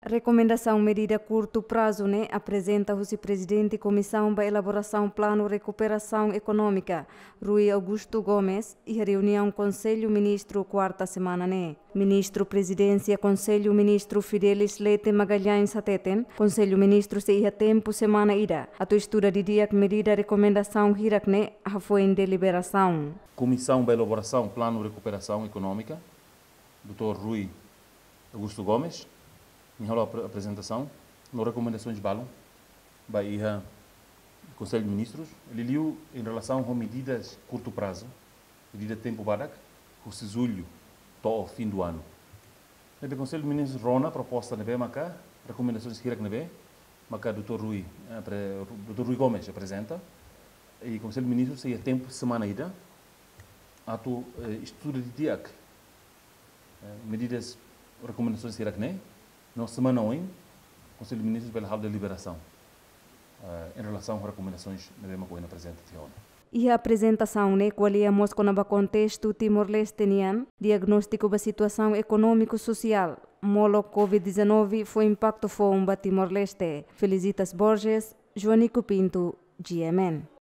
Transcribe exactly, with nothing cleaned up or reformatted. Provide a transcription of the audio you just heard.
Rekomendasaun medida kurtu prazu ne'e aprezenta husi Prezidente Komisaun ba Elaborasaun Planu Rekuperasaun Ekonómika, Rui Augusto Gomes, iha reuniaun Konsellu Ministru kuarta semana ne'e. Ministru Prezidénsia Konsellu Ministru Fidelis Leite Magalhães hateten, Konsellu Ministru sei iha tempu semana ida atu estuda didi'ak medida rekomendasaun hirak ne'e hafoin deliberasaun. Komisaun ba Elaborasaun Planu Rekuperasaun Ekonómika, doutór Rui Augusto Gomes, nia halo apre-, aprezentasaun no rekomendasoens balun ba iha Konsellu Ministrus, liuliu em relação a medidas curto prazo, medida tempu badak, husi jullu to'o fim do ano. Ne'ebé Konsellu Ministrus rona proposta ne'ebé maka, rekomendasoens hirak ne'ebé maka doutór Rui, eh, pre-, doutór Rui Gomes aprezenta, i Konsellu Ministrus sei iha tempu semana ida atu, eh, estuda didi'ak, eh, medidas, rekomendasoens hirak ne'e, no semana oin Konsellu Ministrus bele halo deliberasaun, eh, em relação a rekomendasoens ne'ebé maka ohin aprezenta tiha ona. Iha aprezentasaun ne'e ko'alia mós kona-ba kontestu Timor-Leste nian, diagnóstiku ba situasaun ekonómiku sosiál, molok Covid dezanove fó impaktu foun ba Timor-Leste. Felicitas Borges, Joanico Pinto, G M N.